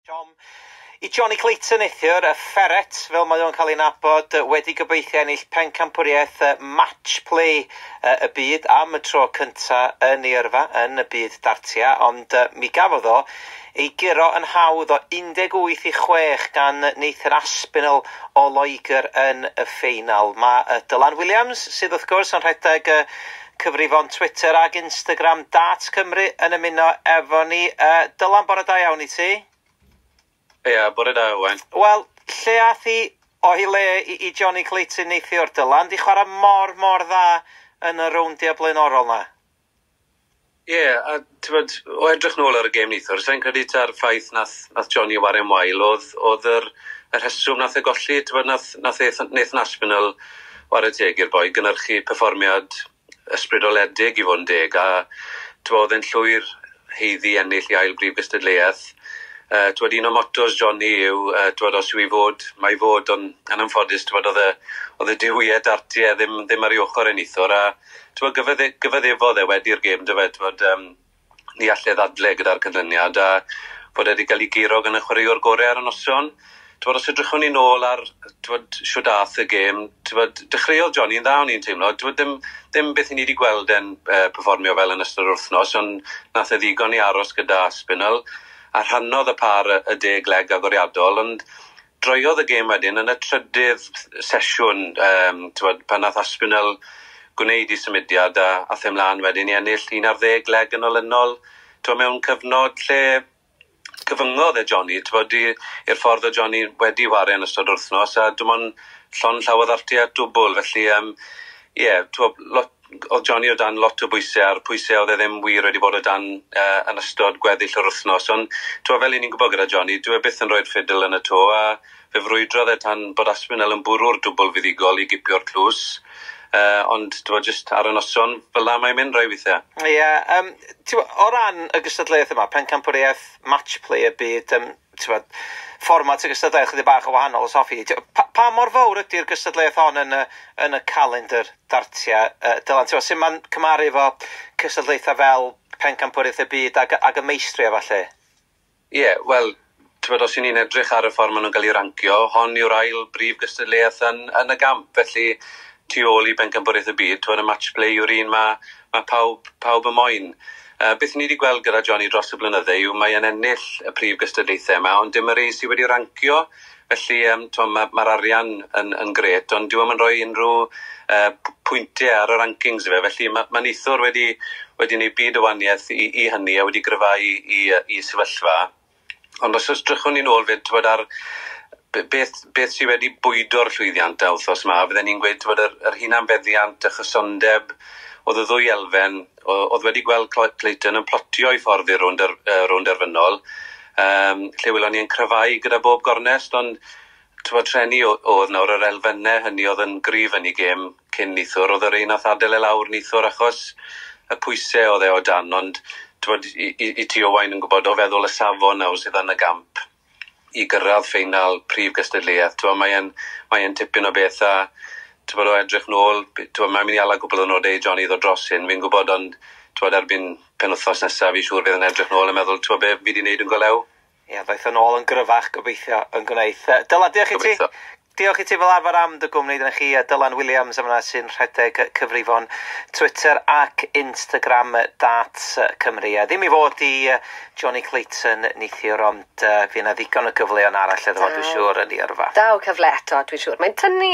Tom i Johnny Clayton neithiwr, y ferret, fel mae o'n cael ei nabod, wedi gobeithio ennill pencampwriaeth match play y byd am y tro cynta yn ei yrfa yn y byd dartia, ond mi gafodd o ei guro yn hawdd o 18-6 gan Nathan Aspinall o Loegr yn y ffeinal. Mae Dylan Williams, sydd wrth gwrs yn rhedeg cyfrifon Twitter ag Instagram Darts Cymru, yn ymuno efo ni. Dylan, bore da iawn i ti. Ie, yeah, bore da, Owain. Wel, lle ath hi o'i le i Johnny Clayton neithiwr, Dylan? Di chwarae mor, mor dda yn y rowndiau blaenorol na. Ie, yeah, a ti'n o edrych nôl ar y gêm neithiwr, sa'n credu ta'r ffaith nath Johnny ware'n wael, oedd yr rheswm nath e golli, ti'n nath Nathan Aspinall ware teg i'r boi, gynhyrchu perfformiad ysbrydoledig i fod yn deg, a ti'n oedd e'n llwyr haeddu ennill i ail brif gystadleuaeth. Twod, un o mottos Johnny yw, twod, os yw i fod, mae i fod, ond yn anffodus, twod, oedd y duwiau dartiau ddim ar ei ochr yn neithiwr, a twod, gyfaddefodd e wedi'r gêm, dyfe, twod, ni allai ddadle gyda'r canlyniad, a bod e wedi cael ei guro gan y chwaraewr gorau ar y noson. Twod, os edrychwn ni nôl ar, twod, shwd ath y gêm, twod, dechreuodd Johnny yn dda, o'n i'n teimlo, twod, ddim beth i ni wedi gweld e'n perfformio fel yn ystod yr wythnos, ond nath e ddigon i aros gyda Aspinall, a rhannodd y par y 10 leg agoriadol, ond droiodd y gêm wedyn yn y trydydd sesiwn, twod, pan nath Aspinall gwneud ei symudiad a ath e mlaen wedyn i ennill 11 leg yn olynol, twod, mewn cyfnod lle cyfyngodd e Johnny, twod, i'r ffordd o Johnny wedi ware yn ystod wythnos, a dim ond llond llaw o ddartiau dwbl, felly ie, twod, oedd Johnny o dan lot o bwysau, a'r pwysau oedd e ddim wir wedi bod o dan yn ystod gweddill yr wythnos, ond twod, fel i ni'n gwybod gyda Johnny, dyw e byth yn rhoi'r ffidil yn y to, a fe frwydrodd e tan bod Aspinall yn bwrw'r dwbl fuddugol i gipio'r tlws, ond twod, jyst ar y noson, fel la mae'n mynd rai weithiau. Ie, yeah, o ran y gystadleuaeth yma, pencampwriaeth match play y byd, t'wod, fformat y gystadleuaeth chydig bach o wahanol os hoffi di. Pa mor fawr ydy'r gystadleuaeth hon yn y calendar dartia, Dylan? T'wod, sut mae'n cymharu efo cystadlaethau fel pencampwriaeth y byd ag y meistri a falle? Ie, yeah, wel, t'wod, os y'n ni'n edrych ar y ffordd maen nhw'n cael ei rancio, hon yw'r ail brif gystadleuaeth yn y gamp, felly tu ôl i bencampwriaeth y byd, t'wod, y match play yw'r un mae pawb yn moyn. Beth ni wedi gweld gyda Johnny dros y blynydde yw mae e'n ennill y prif gystadlaethau yma, ond dim yr un sydd wedi rancio, felly mae'r arian yn gret, ond dyw e'm yn rhoi unrhyw pwyntiau ar y rankings i fe, felly mae neithiwr wedi gwneud byd o wahaniaeth i hynny a wedi gryfhau i sefyllfa. Ond os edrychwn ni nôl fyd, t'wod, ar beth sydd wedi bwydo'r llwyddiant a wythnos yma, fydden ni'n gweud, t'wod, yr hunanfeddiant, y chysondeb, oedd y ddwy elfen, oedd wedi gweld Clayton yn plotio i ffordd i'r rownd derfynol, lle welon ni yn cryfhau gyda bob gornest, ond t'wod, treni oedd nawr yr elfennau hynny oedd yn gryf yn ei gêm cyn neithiwr, oedd yr un nath adael e lawr neithiwr achos y pwysau oedd e o dan, ond t'wod, i ti Owain yn gwybod o feddwl y safon nawr sydd yn y gamp i gyrraedd ffeinal prif gystadleuaeth, t'wod, mae e'n tipyn o beth, a t'wod, o edrych nôl, t'wod, mae'n mynd i ala gwbl o nodau i Johnny ddod dros hyn, fi'n gwybod, ond t'wod, erbyn penwythnos nesaf, fi'n siŵr fydd yn edrych nôl a meddwl, t'wod, be fi wedi wneud yn golew. Ie, ddaeth yn ôl yn gryfach, gobeithio, yn gwneud. Dylan, diolch i ti. Diolch i ti fel arfer am dy gwmni. Dyna chi, Dylan Williams yma sy'n rhedeg cyfrifon Twitter ac Instagram Darts Cymru. Ddim i fod i Johnny Clayton neithiwr, ond fydd yna ddigon o gyfleon arall iddo fo, dwi'n siŵr, yn ei yrfa. Daw cyfle eto, dwi'n siŵr. Mae'n tynnu